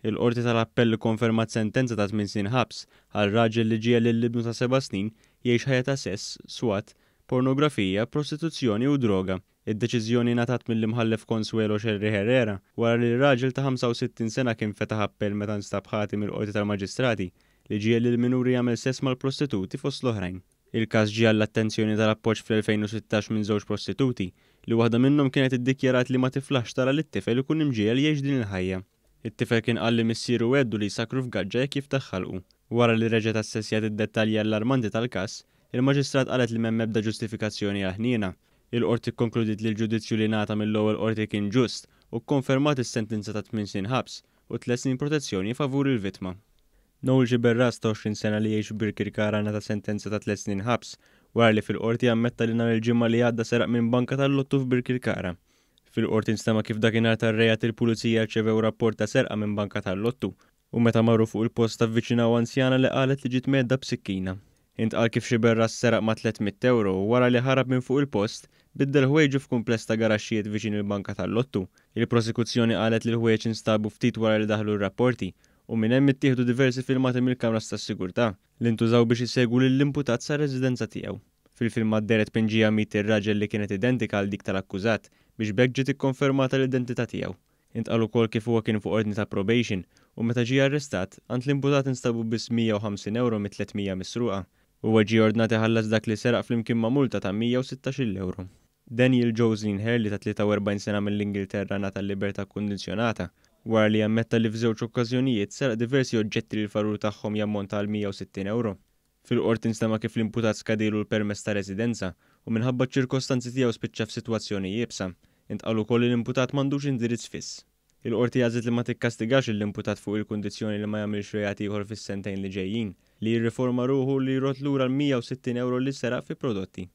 Il-Qorti tal-Appell ikkonfermat sentenza ta' tminn snin ħabs għal raġel li ġiegħel lil ibnu ta' seba' snin jgħix ħajja ta' sess, swat, pornografija, prostituzzjoni u droga. Id-deċiżjoni ngħatat mill-Imħallef Consuelo Scerri Herrera wara li r-raġel ta' 65 sena kien fetaħ appell meta nstab ħati mill-Qorti tal-Maġistrati li ġiegħel lill-minuri jagħmel sess mal-prostituti fost l-oħrajn. Il-każ ġie għall-attenzjoni tal-Appoġġ fl-2016 minn żewġ prostituti li waħda minnhom kienet iddikjarat li ma tiflaħx tara lit-tifel ikun imġiegħel jgħix din il-ħajja. It-tifel kien qal li missieru għeddu li jsakkru f'gaġġa jekk jiftaħ ħalqu. Wara li reġgħet assessjat id-dettalji allarmanti tal-każ, il-Maġistrat qalet li m'hemm ebda ġustifikazzjoni għall-ħniena. Il-Qorti kkonkludiet li l-ġudizzju li ngħata mill-ewwel Qorti kien ġust u kkonfermat is-sentenza ta' tminn snin ħabs u tliet snin protezzjoni favur il-vittma. Noel Sciberras ta' 20 sena li jgħix f'Birkirkara ngħata sentenza ta' tliet snin ħabs wara li fil-Qorti ammetta li nhar il-Ġimgħa li għadda seraq minn banka tal-lottu f'Birkirkara. Fil-Qorti nstema' kif dakinhar tar-reat il-Pulizija rċevew rapport ta' serqa minn banka tal-lottu u meta marru fuq il-post avviċinaw anzjana li qalet li ġiet mhedda b'sikkina. Intqal kif Sciberras seraq ma' 300 ewro u wara li ħarab minn fuq il-post, biddel ħwejġu f'kumpless ta' garaxxijiet viċin il-banka tal-lottu. Il-Prosekuzzjoni qalet li l-ħwejjeġ instabu ftit wara li daħlu r-rapporti u minn hemm ittieħdu diversi filmati mill-kameras tas-sigurtà li ntużaw biex isegwu lill-imputat sar-residenza tiegħu. Fil-filmat dehret tpinġija m'id ir-raġel li kienet identika għal dik tal-akkużat biex b'hekk ġiet ikkonfermata l-identità tiegħu. Intqal ukoll kif huwa kien fuq ordni ta' probation u meta ġie arrestat, għand l-imputat instabu biss 150 ewro mit-300 misruqa. Huwa ġie ordnat iħallas dak li seraq flimkien ma' multa ta' 116-il ewro. Daniel Jocelyn Hurley ta' 43 sena mill-Ingilterra ngħata l-libertà kkundizzjonata wara li ammetta li f'żewġ okkażjonijiet seraq diversi oġġetti li l-valur tagħhom jammonta għal 160 ewro. Fil-Qorti nstema' kif l-imputat skadielu l-permess ta' residenza u minħabba ċ-ċirkostanzi tiegħu spiċċa f'sitwazzjoni iebsa. Intqal ukoll li l-imputat m'għandux indirizz fiss. Il-Qorti għażlet li ma tikkastigax lill-imputat fuq il-kundizzjoni li ma jagħmilx reat ieħor fis-sentejn li ġejjin, li jirriforma ruħu u li jrodd lura l-160 ewro li seraq fi prodotti.